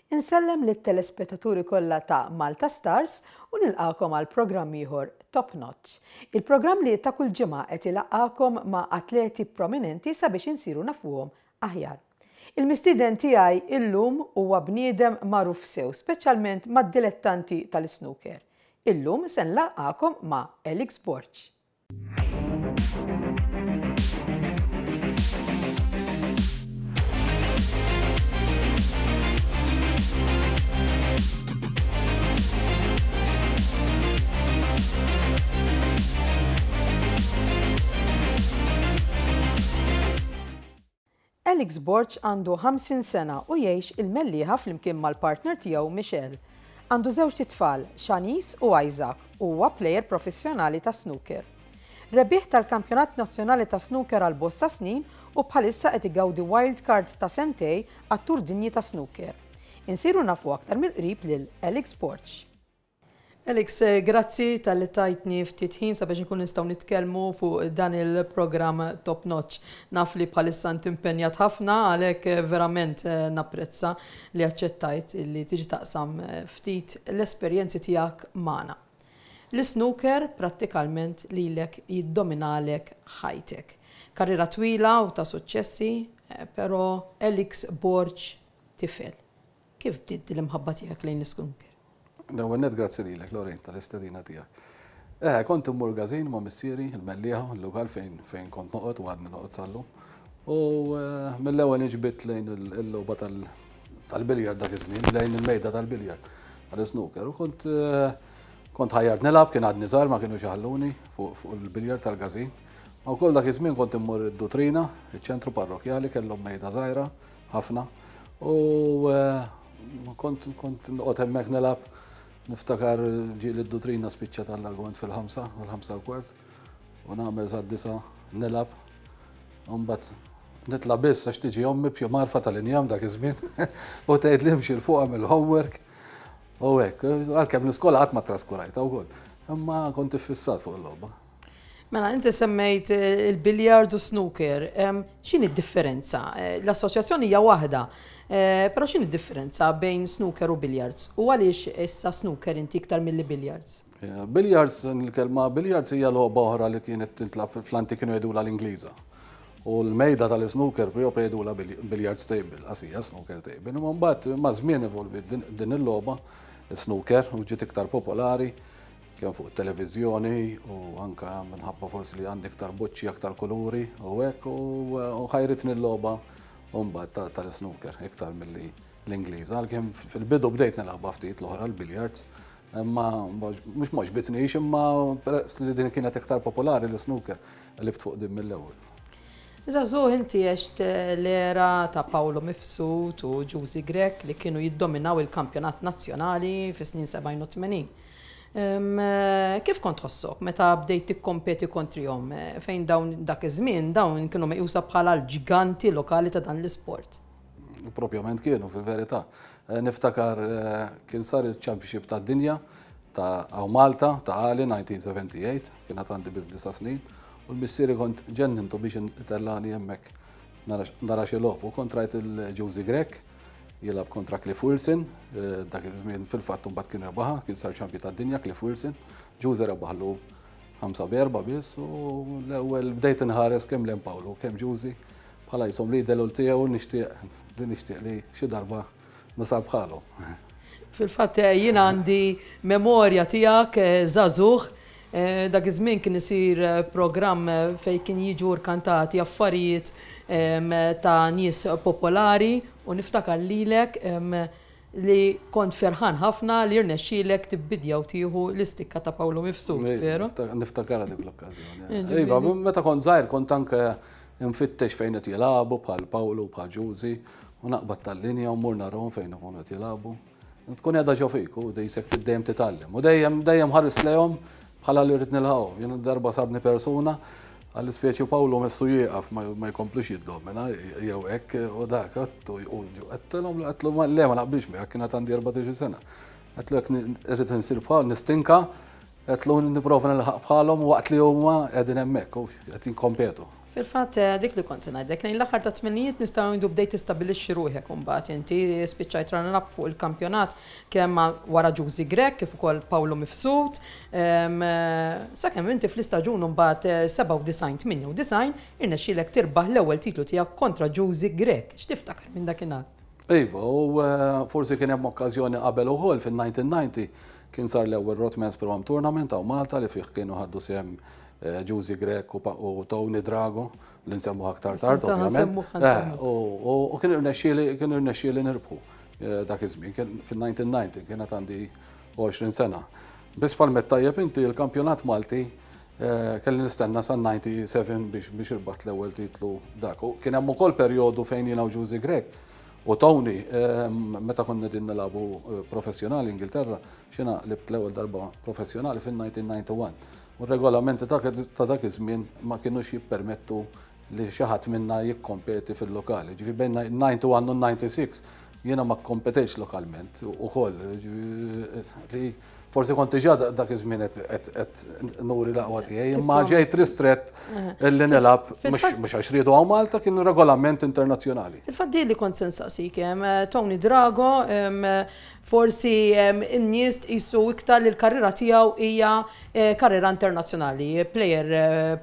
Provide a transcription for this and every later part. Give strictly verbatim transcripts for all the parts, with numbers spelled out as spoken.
Insellem lit-telespettaturi kollha ta' Malta Stars u nilqakom għal programm ieħor Top Notch. Il-programm li ta' kull ġimgħa qed ilaqqakom ma' atleti prominenti sabiex insiru nafuhom aħjar. Il-mistieden tiegħi illum huwa bniedem magħruf sew, speċjalment mad-dilettanti tal-snooker. Illum se nlaqqakom ma' Alex Borg. Alex Borg għandu ħamsin sena u jgħix il-Mellieħa flimkien mal-partner tiegħu Michelle. Għandu żewġt itfal, Shanice u Isaac, u huwa plejer professjonali ta' snooker. Rebbieħ tal-Kampjonat Nazzjonali ta' Snooker għal bosta snin u bħalissa qed igawdi wild card ta' sentejn għat-Tour Dinji ta' Snooker. Insiru nafu aktar mill-qrib lil Alex Borg. Alex, grazzi talli tajtni ftit ħin sabiex nkun nistgħu nitkellmu fuq dan il-programm Top Notch. Naf li bħalissa inti impenjat ħafna, għalhekk verament napprezza li aċċettajt li tiġi taqsam ftit l-esperjenzi tiegħek magħna. L-snooker prattikalment lilek jiddominalek ħajtek. Karriera twila u ta' suċċessi, però Alex Borg tifel. Kif bdiet l-imħabba tiegħek lejn l-snooker? L-ewwel nett grazzi lilek, Lorraine, tal-istedina tiegħek. Eh, kont immur każin ma' missieri, il-Mellieħa, il-lokal fejn fejn kont noqgħod u għadni noqgħod sal-lum. U mill-ewwel inġbidt lejn il-logħba tal-biljard dak iż-żmien, lejn il-mejda tal-biljard tal-snooker. U kont kont ħajjart nilgħab, kien għadni żgħar, ma kienux iħalluni fuq il-biljard tal-każin. Ma wkoll dak iż-żmien kont immur id-Dutrina, iċ-ċentru parrokjali, kellhom mejda żgħira ħafna. U kont kont noqgħod hemmhekk nilgħab. Niftakar ġieli d-Dutrina spiċċa tal-argument fil-ħamsa, fil-ħamsa u kwart, u nagħmel sa disa nilgħab. U mbagħad nitla' biss għax tiġi ommi b'xi marfa tal-injam dak iż-żmien u tgħid li imxi 'l fuq għamel homework. U hekk, għalkemm l-iskola qatt ma traskurajtha wkoll. Imma kont iffissat fuq il-logħba. Mela, inti semmejt il-billiards u snooker. X'inhi d-differenza? L-assoċjazzjoni hija waħda, però x'inhi d-differenza bejn snooker u billiards? U għaliex issa snooker inti iktar milli billiards? Billiards, il-kelma billiards hija logħba oħra li kienet tintlab fl-antik, kienu jgħidulha l-Ingliża. U l-mejda tal-snooker proprio jgħidulha billiards table, qasija snooker table. Imma mbagħad ma' żmien evolvi din il-logħba, snooker, u ġiet iktar popolari kemm fuq it-televiżjoni u anka minħabba forsi li għandi iktar boċċi, aktar kuluri u hekk, u ħajritni l-logħba mbagħad tal-snooker iktar milli l-Ingliż. Għalkemm fil-bidu bdejt nilgħabha ftit l-oħra l-billiards, imma mhux ma ġbitnix, imma peress li din kienet iktar popolari l-snooker, qlibt fuq din mill-ewwel. Żagħżugħ inti għext l-era ta' Paolo Mifsud u Ġużi Grech li kienu jiddominaw il-kampjonat nazzjonali fis-snin sebgħin u tmenin. Kif kont tħossok meta bdejt tikkompeti kontrihom, fejn dawn dak iż-żmien dawn kienu meqjusa bħala l-ġiganti lokali ta' dan l-isport? Propjament kienu, fil-verità. Niftakar kien sar il-Championship tad-dinja ta' hawn Malta ta' Għali nineteen seventy-eight, kien għad għandi biss disa' snin, u l-missieri kont ġennintu biex itellani hemmhekk nara xi logħob, u kont rajt il-Ġużi Grech jilgħab kontra Cliff Wilson, dak iż-żmien fil-fatt mbagħad kien rebaħha, kien sar champion tad-dinja Cliff Wilson, Ġużi rebaħlu ħamsa b'erba' biss, u l-ewwel bdejt inħares kemm lejn Paolo kemm Ġużi bħala jisom li delul tiegħu nixtieq li nixtieq li xi darba nasal bħalu. Fil-fatt jien għandi memorja tiegħek żagħżugħ, dak iż-żmien kien isir programm fejn kien jiġu rkantati affarijiet ta' nies popolari u niftakar lilek li kont ferħan ħafna li rnexxielek tibbidja u tieħu l-istikka ta' Paolo Mifsud, veru? Niftakar dik l-okkażjoni. Iva, meta kont żgħir kont anke nfittex fejn qed jilagħbu bħal Paolo, bħal Ġużi, u naqbad tal-linja u mmur narahom fejn ikunu qed jilagħbu. Tkun qiegħda ġo fik u dejsek dejjem titgħallem. U dejjem dejjem ħares lejhom bħala li rrid nilħaqhom. Jien darba sabni persuna għall speċi Paolo messu jieqaf ma jkomplux jiddomina jew hekk u dak u għedtilhom għedtlu le ma naqbilx miegħek, kienet għandi erbatax-il sena. Għedtlu jekk irrid insir bħal nistinka, għedtlu nipprova nilħaq bħalhom waqt li huma qegħdin hemmhekk u qed jinkompetu. Fil-fatt dik li kont se ngħidlek, lejn l-aħħar ta' tmenijiet nistgħu ngħidu bdejt tistabbilixxi ruħek imbagħad inti spiċċajt runner-up fuq il-kampjonat kemm wara Ġużi Grech kif ukoll Paolo Mifsud. Sakemm inti fl-istaġun imbagħad sebgħa u disgħin tmienja u disgħin irnexxielek tirbaħ l-ewwel titlu tiegħek kontra Ġużi Grech. X'tiftakar minn dakinhar? Iva, u forsi kien hemm okkażjoni qabel ukoll fin-nineteen ninety kien sar l-ewwel Rothmans Pro Am Tournament hawn Malta li fih kienu ħaddu sehem Ġużi Grech u Tony Drago, li nsemmu aktar tard, ovvjament. U kien irnexxieli, kien irnexxieli nirbħu dak iż-żmien, kien fin-nineteen ninety, kienet għandi għoxrin sena. Biss bħal tajjeb inti l-kampjonat Malti kelli nistenna sa ninety seven biex irbaħt l-ewwel titlu dak. U kien hemm ukoll perjodu fejn jiena u Ġużi Grech u Tony, meta konna qegħdin nilagħbu professjonali Ingilterra, xina libt l-ewwel darba professjonali fin-nineteen ninety one. U r-regolamenti ta' dak iż-żmien ma kinux jippermettu li xi ħadd minna jikkompeti fil-lokali. Ġifieri bejn ninety one u ninety six jiena ma kkompetejx lokalment ukoll, ġifieri li forsi kont diġà dak iż-żmien qed nuri l-aqwa tiegħi, imma ġejt ristrett li nilgħab mhux għax riedu hawn Malta, kienu regolament internazzjonali. Fil-fatt di li kont se nsaqsik, Tony Drago, forsi n-nies tqisu iktar li l-karriera tiegħu hija karriera internazzjonali, player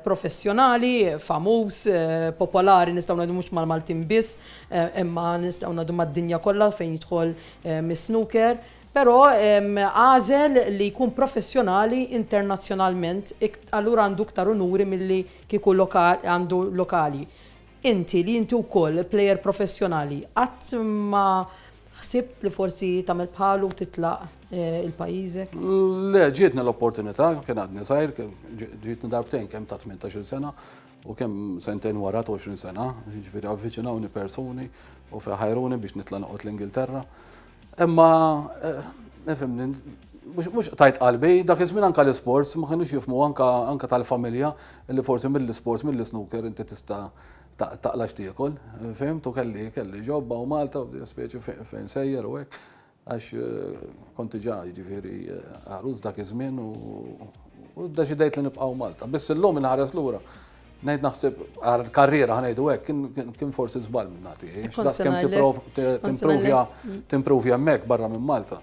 professjonali, famuż, popolari, nistgħu ngħidu mhux mal-Maltin biss, imma nistgħu ngħidu mad-dinja kollha fejn jidħol mis-snooker. Però għażel li jkun professjonali internazzjonalment, allura għandu iktar unuri milli kieku għandu lokali. Inti li inti wkoll player professjonali, qatt ma ħsibt li forsi tagħmel bħalu titlaq il-pajjiżek? Le, ġietni l-opportunità, kien għadni żgħir, ġietni darbtejn kemm ta' tmintax-il sena u kemm sentejn wara ta' għoxrin sena, jiġifieri avviċinawni persuni u ħajruni biex nitla' noqgħod l-Ingilterra. Imma, nifhimni, mhux tajt qalbi, dak iż-żmien anke l-isports ma kinux jifhmu anke tal-familja li forsi mill-isports, mill-snooker inti tista' taqla x'tiekol, fimt, u kelli, kelli ġobba u Malta u speċi fejn sejjer u hekk, għax kont diġà jiġifieri għarus dak iż-żmien u ddeċidejt li nibqgħu Malta. Biss illum inħares lura, ngħid naħseb għal karriera ħanejdu hekk, kien, kien forsi żball minn nagħti, Kont għax daqs kemm se ngħidlek. tipprov-, Kont se timprovja, ngħidlek. timprovja hemmhekk barra minn Malta.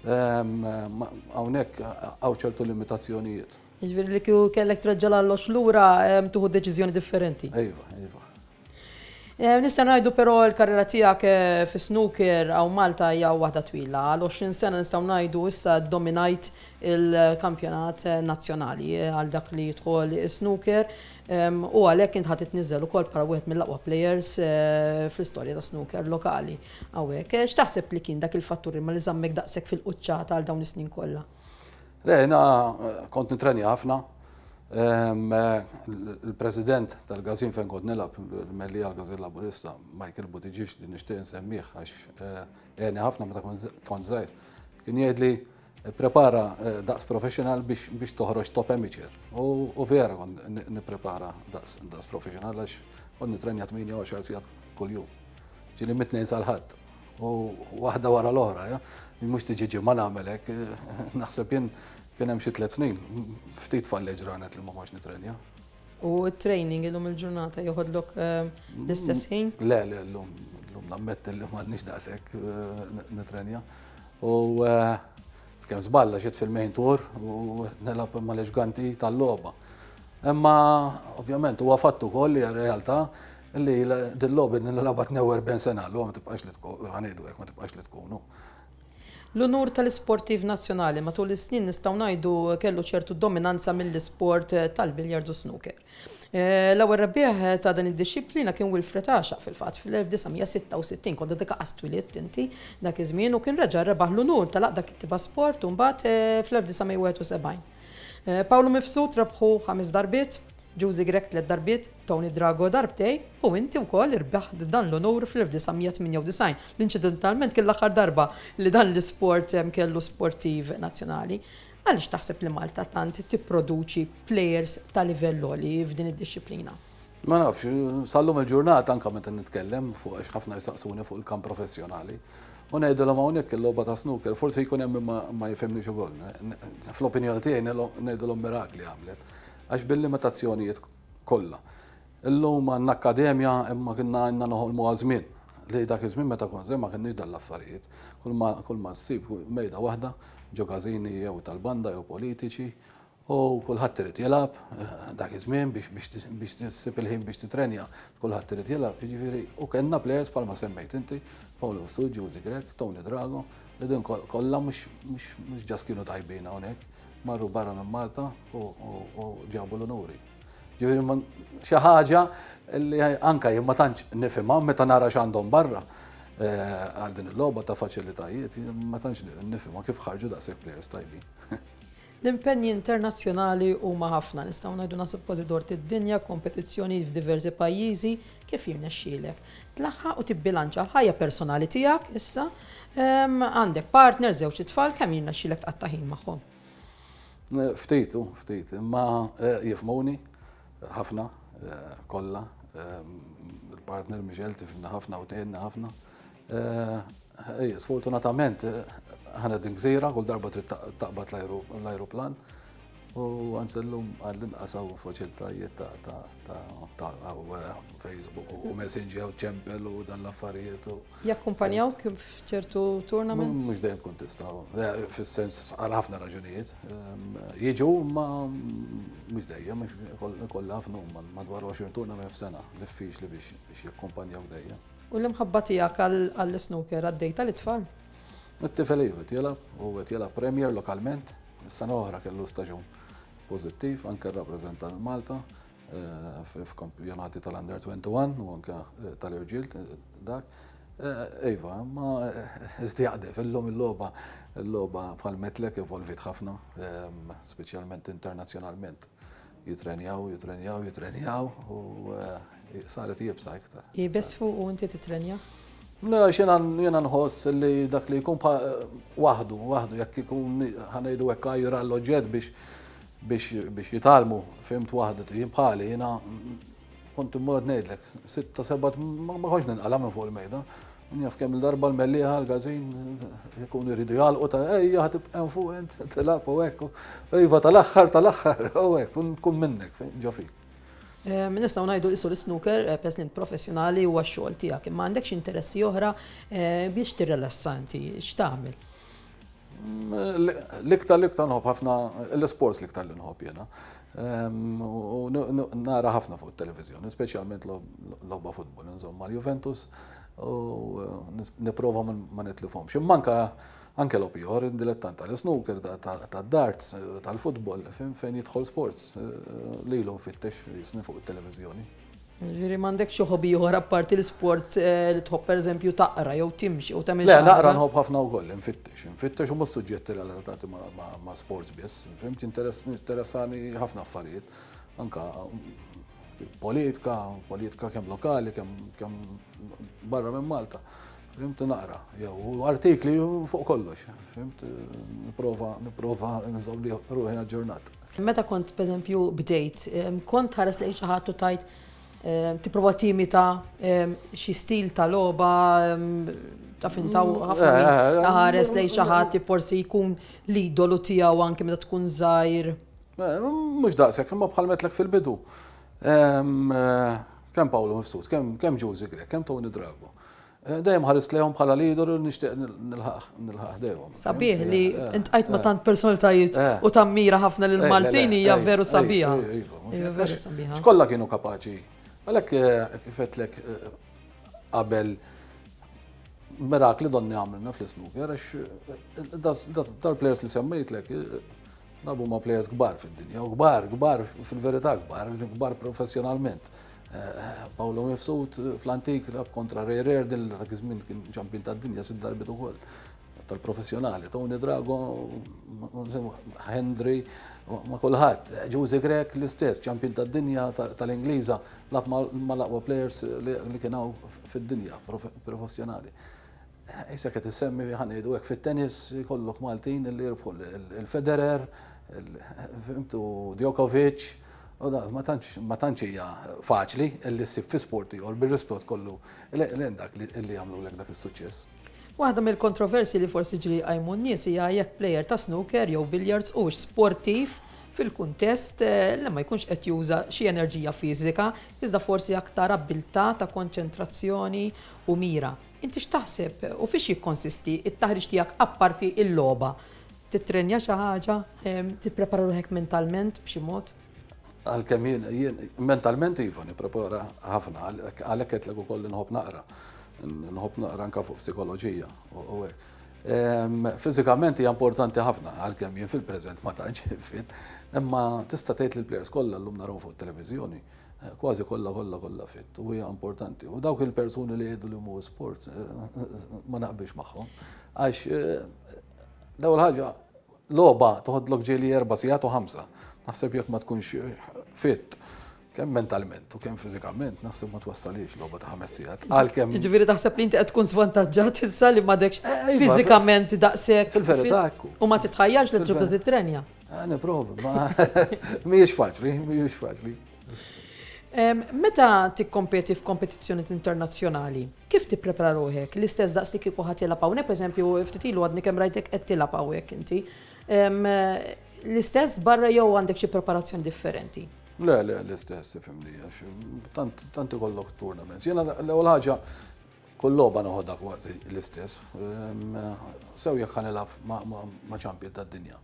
Hawnhekk hawn ċertu limitazzjonijiet. Jiġifieri li kieku kellek treġġa' l-allox lura, tieħu deċiżjoni differenti. Iva, iva. Nista' ngħidu però l-karriera tiegħek fi snooker hawn Malta hija waħda twila. Għal għoxrin sena nistgħu ngħidu issa dominajt il-kampjonat nazzjonali għal dak li jidħol snooker. U għalhekk int ħadd titniżel ukoll bħala wieħed mill-aqwa players fl-istorja ta' snooker lokali hawnhekk. X'taħseb li kien dak il-fattur imma li żammek daqshekk fil-quċċata għal dawn is-snin kollha? Le, jiena kont nitrenja ħafna. Il-president tal-Gazin fejn kont nilgħab, il-Mellieħa għall-Gazin Laburista, Michael Buttigieg, li nixtieq insemmih għax għeni ħafna meta kont żgħir, kien jgħidli prepara daqs professional biex, biex toħroġ top amateur. U vera kont nipprepara daqs, daqs professional għax kont nitrenja tmienja u għaxar sigħat kuljum. Ġieli mit-tnejn sal-ħadd. U waħda wara l-oħra, ja? Mhux tiġi ġimgħa nagħmel hekk, naħseb jien kien hemm xi tliet snin, ftit falli ġranet li ma kontx nitrenja. U t-training illum il-ġurnata joħodlok l-istess ħin? Le, le, llum, llum nammetti li m'għadniex daqshekk nitrenja. U kemm żballa xiet fil-main tour u nilgħab mal-eġganti tal-logħba. Imma ovvjament huwa fatt ukoll li realtà li dil-logħba nilgħabha tnejn u erbgħin sena, llum ma tibqax li tkun, ħanejdu hekk, ma tibqax li tkunu. L-unur tal-isportiv nazzjonali matul is-snin nistgħu ngħidu kellu ċertu dominanza mill-isport tal-biljardu snooker. Eh, l-ewwel rebbieħ ta' dan id-dixxiplina kien Wilfred Għaxaq fil-fatt fl-elf disa' mija sitta u sittin, kont dik qas twilidt inti dak iż-żmien, u kien reġa' rebaħ l-unur tal-Għaqda Kittieba Sport u mbagħad eh, fl-elf disa' mija wieħed u sebgħin. Eh, Paolo Mifsud rebħu ħames darbiet, Ġużi Grech tliet darbiet, Tony Drago darbtejn u inti wkoll irbaħt dan l-unur fl-elf disa' mija tmienja u disgħin. L-inċidentalment kien l-aħħar darba li dan l-isport kellu sportiv nazzjonali. Għaliex taħseb li Malta tant tipproduċi players ta' livell għoli f'din id-dixxiplina? Ma nafx, sal-lum il-ġurnata anka meta nitkellem fuq, għax ħafna jisaqsuni fuq il-kamp professjonali. U ngħidilhom hawnhekk il-logħba ta' snooker, forsi jkun hemm ma jifhimniex ukoll. Fl-opinjoni tiegħi ngħidilhom mirakli għamlet. Għax bil-limitazzjonijiet kollha. Illum għandna akkademja, imma kienna għandna noħolmu żmien li dak iż-żmien meta kont ma kienniex dal-affarijiet. Kull ma ssib mejda waħda ġo każini jew tal-banda jew politiċi u kulħadd irid jilgħab eh, dak iż-żmien biex tissib il-ħin biex titrenja, kulħadd irid jilgħab, jiġifieri u kellna players bħalma semmejt inti, Paolo Mifsud, Ġużi Grech, Tony Drago, li din kollha mhux just kienu tajbin hawnhekk, marru barra minn Malta u ġabu l-onuri. Ġifieri xi ħaġa li anka jien ma tantx nifhimha meta nara x'għandhom barra eh, għal din il-logħba ta' faċilitajiet, ma tantx nifhimha kif ħarġu daqshekk players tajbin. L-impenji internazzjonali huma ħafna, nistgħu ngħidu nasib kważi dort id-dinja, kompetizzjoni f'diversi pajjiżi, kif jirnexxielek tlaħħaq u tibbilanċa l-ħajja personali tiegħek issa, għandek partner, żewġ tfal, kemm jirnexxielek tqatta' ħin magħhom? Ftit, ftit, imma eh, jifhmuni ħafna, eh, kollha. Il-partner Michel tifhimna ħafna u tgħinna ħafna. Eh, sfortunatament, aħna din gżira, kull darba trid taqbad l-ajruplan. U anzi llum għall-inqas hawn faċilitajiet ta' Facebook u Messenger u ċempel u dan l-affarijiet. Jakkumpanjaw kif ċertu tournaments? Mhux dejjem tkun tista', fis-sens għal ħafna raġunijiet. Jiġu, ma mhux dejjem, kollha ħafna, madwar għoxrin tournament f'sena, diffiċli biex jakkumpanjaw dejjem. U l-imħabba tiegħek għall-snooker għaddejta lit-tfal? It-tifel iva jilgħab u qed jilgħab Premier lokalment, is-sena oħra kellu staġun pożittiv, anke rrappreżenta Malta eh, f'kampjonati tal-Under twenty-one u anke eh, tal-irġiel dak. Eh, iva, ma iżdi jaqdef, illum il-logħba il-logħba bħal metlek evolvit ħafna, speċjalment internazzjonalment. Jitrenjaw, jitrenjaw, jitrenjaw u saret iebsa iktar. Iebes fuq u inti titrenja? Le, jiena nħoss li dak li jkun waħdu, waħdu, jekk ikun ħa ngħidu hekk għajjur għall-oġġett biex biex biex jitgħallmu, fhimt, waħdu, jien bħali, jiena kont immur, ngħidlek, sitta, seba, ma kontx ninqala minn fuq il-mejda. Njaf kemm il-darba l-Mellieħa l-każin jkunu jridu jagħlqu ta' ejja ħa tibqa' fuq int tilgħab u hekk. Iva, tal-aħħar tal-aħħar u hekk tkun minnek ġo fik. Nistgħu ngħidu isu l-snooker eh, president professjonali huwa x-xogħol tiegħek, imma għandek xi interessi oħra eh, biex tirrelassa inti, x'tagħmel? L-iktar l-iktar nħobb ħafna l-sports, l-iktar li nħobb jiena. U nara ħafna fuq it-televizjoni, speċjalment logħba futbol, insomma, l-Juventus u nipprova ma nitlifhomx. Imma anka anke logħob ieħor, dilettant tal-snooker, tad-darts, tal-futbol, fejn jidħol sports li l fittex jisni fuq it-televizjoni. Ġifieri m'għandek xi hobby ieħor apparti l-sport eh, li tħobb, pereżempju taqra jew timxi jew tagħmel? Le, naqra nħobb ħafna wkoll, nfittex, nfittex u mhux suġġetti relatati ma' sports biss, fhimt, interessani ħafna affarijiet, anka politika, politika kemm lokali, kemm barra minn Malta. Fhimt, naqra, jew artikli fuq kollox, fhimt, nipprova, nipprova nżomm li ruħi aġġornat. Meta kont, pereżempju, bdejt, kont ħares lejn xi ħadd u tajt tipprova timita xi stil ta' logħba, ta' fintaw ħafna min ħares lejn xi ħadd forsi jkun l-idolu tiegħu anke meta tkun żgħir? Mhux daqshekk, imma bħal għedtlek fil-bidu. Kemm Paolo Mifsud, kemm Ġużi Grech, kemm Tony Drago. Dejjem ħarist lejhom bħala leader u nixtieq nilħaq ħdejhom. Sabiħ li iltqajt ma' tant personalitajiet u tammira ħafna lil Maltin, hija veru sabiħa. Veru sabiħa. X'kollha kienu kapaċi. Għalhekk kif għedtlek qabel Mirakli donni għamilna fl-snooker, għax dal-players li semmejtlek lagħbu ma' players kbar fid-dinja, u kbar, kbar fil-verità kbar, kbar professjonalment. Paolo Mifsud fl-antik lagħab kontra Ray Reardon, dak iż-żmien kien champion tad-dinja sitt darbiet ukoll tal-professjonali. Tony Drago, Hendry, ma' kulħadd. Ġużi Grech l-istess, champion tad-dinja tal-Ingliża, lagħab ma' l-aqwa players li kienu fid-dinja professjonali. Issa qed issemmi, ħa ngħidu hekk, fit-tennis jkollok Maltin li jirbħu, il-Federer, fhimtu, Djokovic, u da, ma tantx hija faċli li ssib fi sport ieħor, bir-rispett kollu lejn dak li jagħmlu lek dak is-suċċess. Waħda mill-kontroversi li forsi ġieli qajmu n-nies hija jekk player ta' snooker jew billiards u sportiv fil-kuntest li ma jkunx qed juża xi enerġija fiżika, iżda forsi aktar abbiltà ta' konċentrazzjoni u mira. Inti x'taħseb u fiex jikkonsisti it-taħriġ tiegħek apparti il-logħba? Titrenja xi ħaġa, tipprepara ruħek mentalment b'xi mod? Għalkemm jien, jien mentalment iva nipprepara ħafna, għalhekk qed ukoll nħobb naqra. Nħobb naqra anke fuq psikoloġija u hekk. Fiżikament hija importanti ħafna, għalkemm jien fil-preżent ma tantx fit, imma tista' tgħid li l-players kollha llum naraw fuq televiżjoni kważi kollha kollha kollha fit u hija importanti. U dawk il-persuni li jgħidu li mhu sport, ma naqbilx magħhom. Għax l-ewwel ħaġa, logħba toħodlok ġieli erba' sigħat u ħamsa. Naħseb jekk ma tkunx fit, kemm mentalment u kemm fiżikament, naħseb ma twassalix logħba ta' ħames sigħat. Għalkemm. Jiġifieri taħseb li inti qed tkun svantaġġat issa li m'għadekx iva, fiżikament daqshekk. Fil-verità ekku. U ma titħajjarx li tibda titrenja? Nipprova, ma mhijiex faċli, mhijiex faċli. Meta tikkompeti f'kompetizzjoni internazzjonali, kif tipprepara ruħek? L-istess daqs li kieku ħa tilgħab hawnhekk, pereżempju, ftit ilu għadni kemm rajtek qed tilgħab hawnhekk inti. L-istess barra jew għandek xi preparazzjoni differenti? Le, le, l-istess, ifhimni, għax tant tant ikollok tournaments. Jiena l-ewwel ħaġa, kull logħba noħodha kważi l-istess. Sew jekk ħa nilgħab ma' champion tad-dinja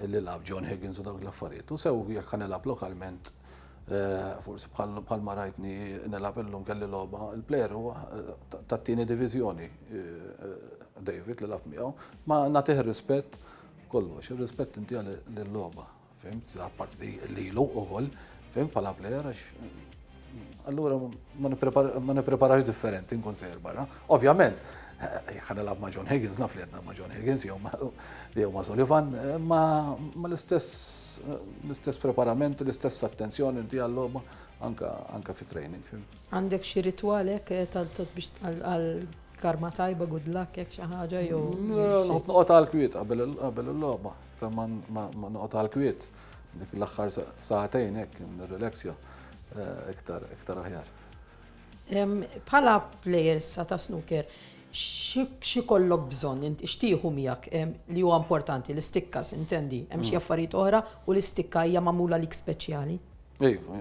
li lagħab John Higgins u dawk l-affarijiet. U sew jekk ħa nilgħab lokalment, forsi bħal ma rajtni nilgħab illum, kelli logħba, il-player huwa tat-tieni diviżjoni, David li lgħabt miegħu, ma nagħtih rispett kollox, ir-rispett inti għal-logħba, fhimt, apparti lilu ukoll, fhimt, bħala player, għax allura ma nippreparax differenti nkun sejjer barra. Ovvjament, jekk nilgħab ma' John Higgins, naf li għedna ma' John Higgins jew ma' Sullivan, ma l-istess l-istess preparament, l-istess attenzjoni inti għall-logħba anka anka fi training. Għandek xi ritwal hekk biex għal karma tajba, good luck, hekk xi ħaġa jew? Noqgħod noqgħod għal kwiet qabel qabel il-logħba, iktar ma noqgħod għal kwiet dik l-aħħar sagħtejn hekk nirrelaxja iktar iktar aħjar. Bħala players ta' snooker, xi kollok bżonn, inti x'tieħu miegħek li huwa importanti, l-istikka intendi, hemm xi affarijiet oħra u l-istikka hija magħmula lik speċjali? Iva,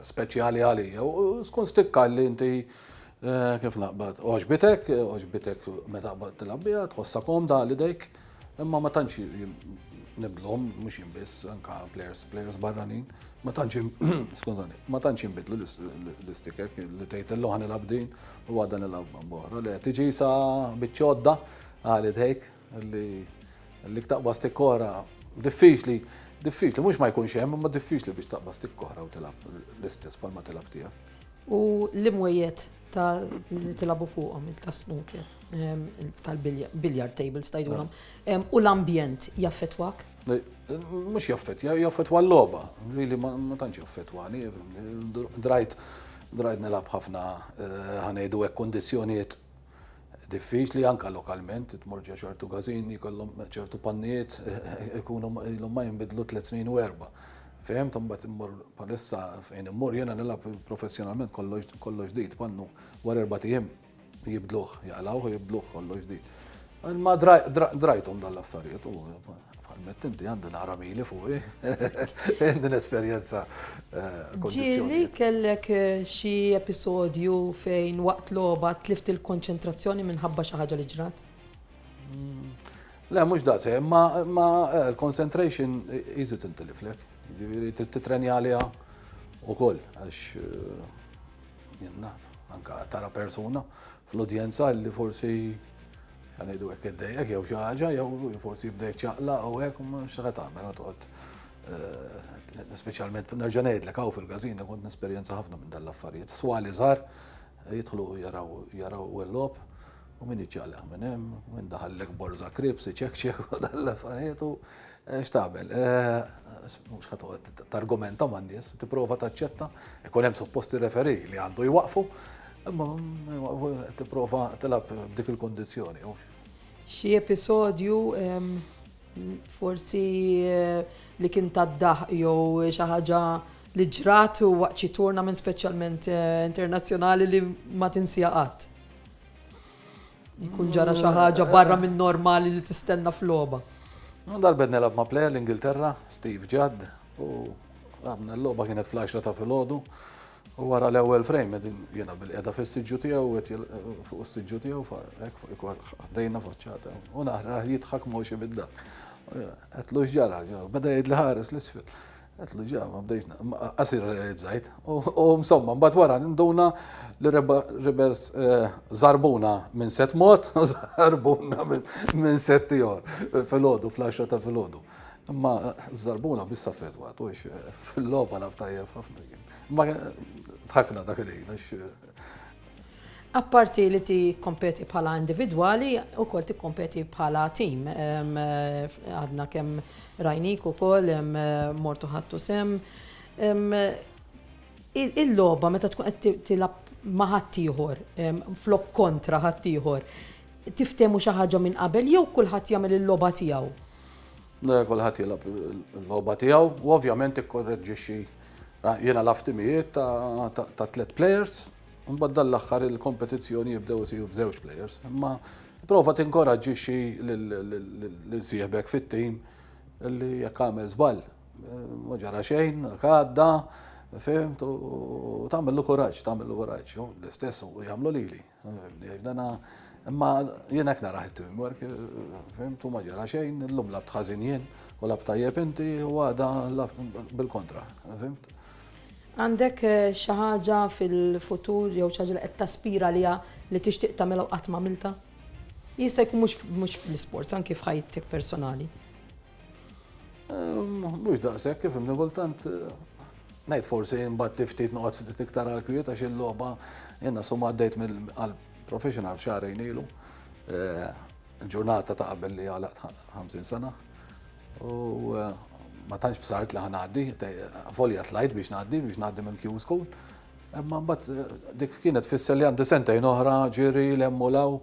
speċjali għalija. U skun stikka li inti kif naqbad, għoġbitek, għoġbitek meta qbad tilgħab biha, tħossha komda għal idejk, imma ma tantx nibdlhom, mhux jien biss, anka players, players barranin, ma tantx, skużani, ma tantx jinbidlu l-istikek li tgħid illum ħa nilgħab din u għada nilgħab b'oħra. Le, tiġi sa biċċodda għal idejk li li taqbad stikka oħra diffiċli, diffiċli, mhux ma jkunx hemm, imma diffiċli biex taqbad stikka oħra u tilgħab l-istess bħalma tilgħab tiegħek. U l-imwejjed ta' li tilagħbu fuqhom ta' snooker, tal-billiard tables tgħidulhom, u l-ambjent jaffettwak? Mhux jaffett, jaffettwa l-logħba, li ma tantx jaffettwani, drajt drajt nilgħab ħafna, ħa ngħidu hekk, kondizzjonijiet diffiċli anka lokalment, tmur ġo ċertu każini, jkollhom ċertu pannijiet, ikunu ilhom ma jinbidlu tliet snin u erba'. Fhimt, mbagħad immur bħalissa fejn immur jiena nilgħab professjonalment, kollox kollox ġdid, pannu wara erba' ijiem jibdluh, jaqlgħuh u jibdluh kollox ġdid. Ma drajthom dal-affarijiet u bħal inti għandi naqra mili fuqi, għandi l-esperjenza. Ġieli kellek xi episodju fejn waqt logħba tlift il-konċentrazzjoni minħabba xi ħaġa li ġrat? Le, mhux daqs, ma l-concentration easy tintiliflek. Ġifieri titrenja għaliha ukoll, għax jien naf, anka tara persuna, fl-udjenza li forsi ħa ngħidu hekk iddejjek jew xi ħaġa, jew forsi jibda jċaqlaq u hekk, u x'ħa tagħmel, toqgħod, speċjalment nerġa' ngħidlek, hawn fil-każin kont nesperjenza ħafna minn dal-affarijiet. Swali żgħar jidħlu jaraw jaraw l-logħob u min iċċaqlaq minn hemm, min daħallek borża crisps, ċekċek u dal-affarijiet, u x'tagħmel? Mhux ħa toqgħod targumenta man-nies, tipprova taċċetta, ikun hemm supposti referee li għandu jwaqfu, imma tipprova tilgħab b'dik il-kondizzjoni. Xi episodju forsi li kien tad-daħk jew xi ħaġa li ġrat u waqt xi tournament, speċjalment internazzjonali, li ma tinsija qatt? Jkun ġara xi ħaġa barra minn normali li tistenna f'logħba. Darba nilgħab ma' player l-Ingilterra, Steve Judd, u għamna l-logħba, kienet fl-għaxra ta' filgħodu, u wara l-ewwel frame jiena bilqiegħda fis-siġġu tiegħu, fuq is-siġġu tiegħu, ħdejna faċċata, u nara jidħak mhux bidda. Għedtlu: "X'ġara?" Beda jgħid li ħares l-isfel. Għedtlu ġa, ma bdejx, qasir realizzajt. U insomma, mbagħad wara nduna li reverse żarbuna minn set mod, żarbuna minn set ieħor filgħodu, fl-għaxra ta' filgħodu. Imma żarbuna biss affettwat, u fil-logħba naf tajjeb ħafna kien. Ma dħakna dak il-ħin. Apparti li tikkompeti bħala individwali, ukoll tikkompeti bħala team. Għadna kemm rajnik ukoll, mortu ħadtu sehem. Il-logħba meta tkun qed tilgħab ma' ħaddieħor, flok kontra ħaddieħor, tiftehmu xi ħaġa minn qabel jew kulħadd jagħmel il-logħba tiegħu? Kulħadd jilgħab il-logħba tiegħu u ovvjament ikkorreġixxi. Jiena lgħabt timijiet ta' tliet players. Mbagħad dal-aħħar il-kompetizzjoni jibdew isiru b'żewġ players. Imma prova tinkoraġġixxi lil sieħbek fit-tim li jekk għamel żball, ma ġara xejn, għadda, fhimt, u tagħmillu kuraġġ, tagħmillu kuraġġ. L-istess u jagħmlu lili. Dana, imma jien hekk nara teamwork, fhimt, u ma ġara xejn, illum lgħabt ħażin jien u lgħabt tajjeb inti u għada lgħabt bil-kontra, fhimt? Għandek xi ħaġa fil-futur jew xi ħaġa li qed taspira liha li tixtieq tagħmilha u qatt m'għamilta? Jista' jkun mhux mhux fl-isports, anki f'ħajtek personali. Mhux daqshekk, kif imni kultant ngħid forsi mbagħad ftit noqgħod ftit iktar għal kwiet, għax il-logħba jiena summa għaddejt mill professional xahrejn ilu. Ġurnata ta' qabel li għalaqt ħamsin sena. U ma tantx bsart li ħa ngħaddi, folja tlajt biex ngħaddi, biex ngħaddi minn Q School. Imma mbagħad dik kienet fisser li għandi sentejn oħra ġiri l-hemm u law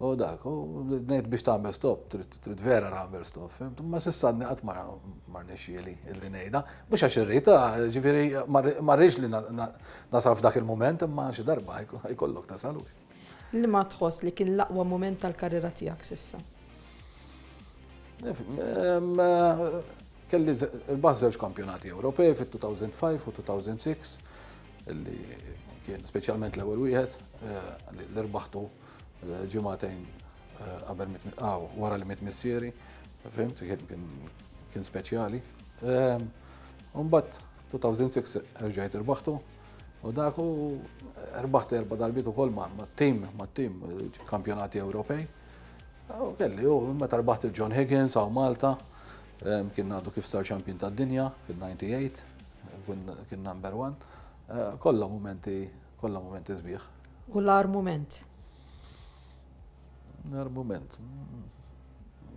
u dak, u ngħid biex tagħmel stop, trid vera tagħmel stop, fhimt? Ma s'issa għadni qatt ma rnexxieli illi ngħidha, mhux għax irrid, ġifieri ma rridx li nasal f'dak il-mument, imma xi darba jkollok tasal. Li ma tħoss li kien l-aqwa mument tal-karriera tiegħek s'issa? Kelli rbaħt żewġ kampjonati Ewropej fit-elfejn u ħamsa u elfejn u sitta, illi kien speċjalment l-ewwel wieħed li rbaħtu ġimagħtejn qabel, wara li miet missieri, fhimt, kien speċjali. Mbagħad elfejn u sitta rġajt irbaħtu u dak, u rbaħt erba' darbiet ukoll ma' team, ma' team kampjonati Ewropej. U kelli, u meta rbaħt il-John Higgins hawn Malta, kien għadu kif sar champion tad-dinja fil-disgħa u disgħin, kien number one. Kollha momenti, kollha momenti sbieħ. U l-agħar moment? L-agħar moment.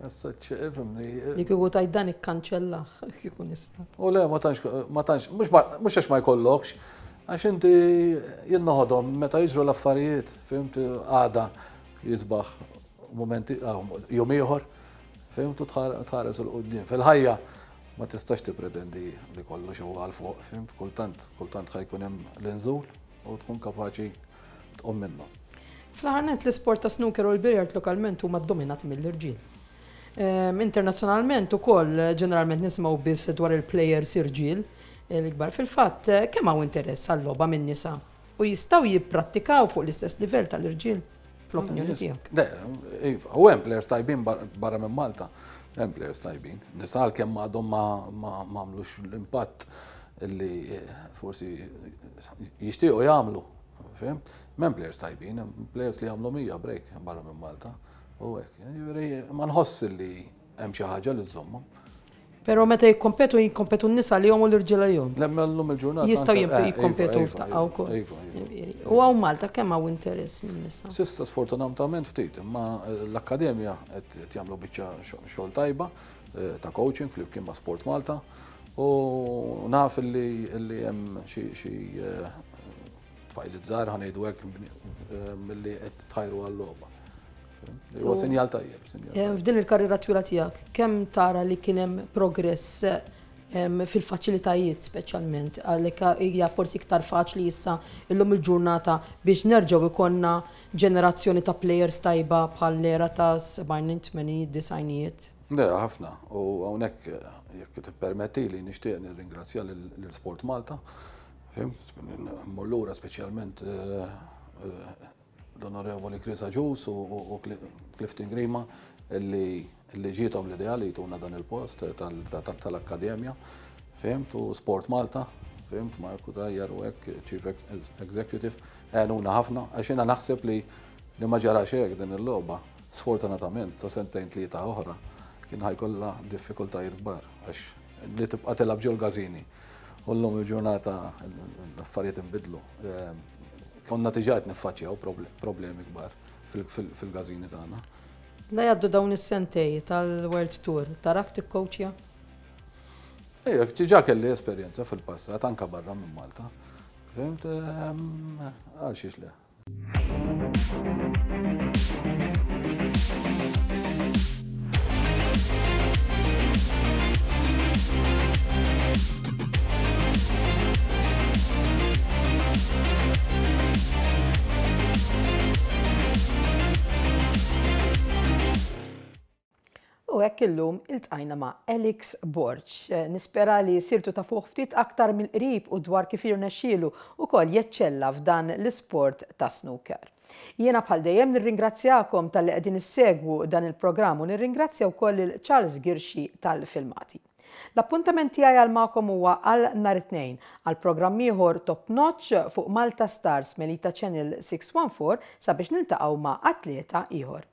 Issa, ifhimni. Li kieku tgħid dan ikkanċellah, kieku nista'. U le, ma tantx, ma tantx, mhux għax ma jkollokx, għax inti jien noħodhom meta jiġru l-affarijiet, fhimt, għada jisbaħ momenti, jum ieħor, fhimt, u tħares 'il quddiem. Fil-ħajja ma tistax tippretendi li kollox huwa għal fuq, fhimt, kultant, kultant ħa jkun hemm l-inżul u tkun kapaċi tqum minnu. Fl-aħħar nett, l-isport ta' snooker u l-billiard lokalment huma dominati mill-irġiel. Internazzjonalment ukoll ġeneralment nisimgħu biss dwar il-players irġiel l-ikbar. Fil-fatt, kemm hawn interess għal-logħba minn nisa u jistgħu jipprattikaw fuq l-istess livell tal-irġiel, fl-opinjoni tiegħek? Le, iva, u hemm players tajbin barra minn Malta. Hemm players tajbin. Nisa kemm għadhom ma għamlux l-impatt li forsi jixtiequ jagħmlu. Fhimt? Hemm players tajbin, hemm players li għamlu mija break barra minn Malta. U hekk, jiġifieri ma nħoss li hemm xi ħaġa li żżommhom. Pero meta jikkompetu, jikkompetu n-nisa li jom u l-irġiel jom. Lemmellum il-ġurnata. Jistgħu anke- eh, jikkompetu iva, f'daqqa iva, wkoll. Iva, iva. U hawn Malta kemm hawn interess minn nisa? S'issa sfortunatament ftit, imma eh, l-akkademja qed jagħmlu biċċa xogħol tajba eh, ta' coaching flimkien ma' Sport Malta u naf li li hemm xi xi eh, tfajliet żgħar, ħa ngħidu hekk, milli qed tħajru għal-logħba. Huwa sinjal tajjeb. Sinjal Eh, F'din il-karriera twila tiegħek, kemm tara li kien hemm progress em, fil-faċilitajiet speċjalment, għalhekk hija forsi iktar faċli issa illum il-ġurnata biex nerġgħu ikollna ġenerazzjoni ta' players tajba bħal l-era ta' sebgħin, tmenin, disgħinijiet? Le, ħafna. U hawnhekk, jekk tippermetti li, nixtieq nirringrazzja lil Sport Malta. Fhimt, mmur lura speċjalment eh, eh, l-Onorevoli Chris Agius u u Clifton Grima illi illi ġietom l-idea li jtuna dan il-post tal-Akkademja. Fhimt, u Sport Malta, fhimt, Marku Tajjar u hekk, Chief Executive, għenuna ħafna, għax jiena naħseb li li ma ġarax hekk din il-logħba, sfortunatament, sa sentejn tlieta oħra, kien ħa jkollha diffikultajiet kbar, għax li tibqa' tilgħab ġol każini. U llum il-ġurnata l-affarijiet inbidlu. Konna diġà qed niffaċċjaw problemi kbar fil-każini tagħna. La jgħaddu dawn is-sentejn tal-World Tour, tarak tikkoċja? Ejja, diġà kelli esperjenza fil-passat, anka barra minn Malta. Fhimt, għal xiex le. U hekk illum iltqajna ma' Alex Borg. Nispera li sirtu tafuh ftit aktar mill-qrib u dwar kif irnexxielu ukoll jeċċella f'dan l-isport ta' snooker. Jiena bħal dejjem nirringrazzjakom talli qegħdin issegwu dan il-programm u nirringrazzja wkoll lil Charles Girxi tal-filmati. L-appuntament tiegħi għal magħkom huwa għal nhar it-Tnejn għal programm ieħor Top Notch fuq Malta Stars Melita Channel sitt wieħed erba' sabiex niltaqgħu ma' atleta ieħor.